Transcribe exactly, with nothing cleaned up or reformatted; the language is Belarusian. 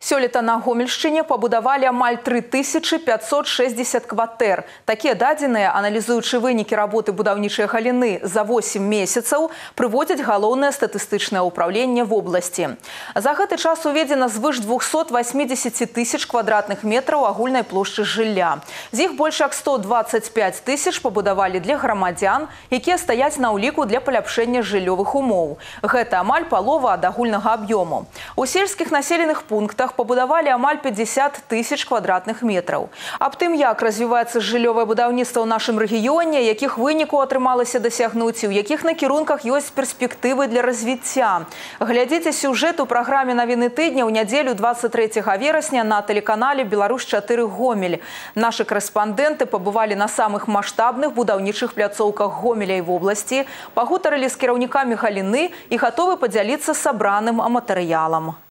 Сёлета на Гомельшчыне пабудавалі амаль тры тысячы пятьсот шестьдесят кватэр. Такія дадзеныя, аналізуючы вынікі работы будаўнічай галіны за восемь месяцаў, прыводзяць галоўнае статыстычнае ўпраўленне вобласці. За гэты час уведзена звыш двухсот восьмидесяти тысяч квадратных метраў агульнай плошчы жылля. З іх больш як сто двадцать пять тысяч пабудавалі для грамадзян, якія стаяць на ўліку для паляпшэння жыллёвых умоў. Гэта амаль палова ад агульнага аб'ёму. У сельскіх населеных пунктах пабудавалі амаль пятьдесят тысяч квадратных метраў. Аб тым, як развіваецца жыллёвае будаўніцтва ў нашым рэгіёне, якіх вынікаў атрымалася дасягнуць і ў якіх накірунках ёсць перспектывы для развіцця. Глядзіце сюжэт у праграме «Навіны тыдня» ў нядзелю двадцать трэцяга верасня на тэлеканале «Беларусь чатыры Гомель». Нашы корэспандэнты пабывалі на самых маштабных будаўнічых пляцоўках Гомеля і вобласці, пагутарылі з кіраўнікамі галіны і гатовы падзяліцца сабраным матэрыялам.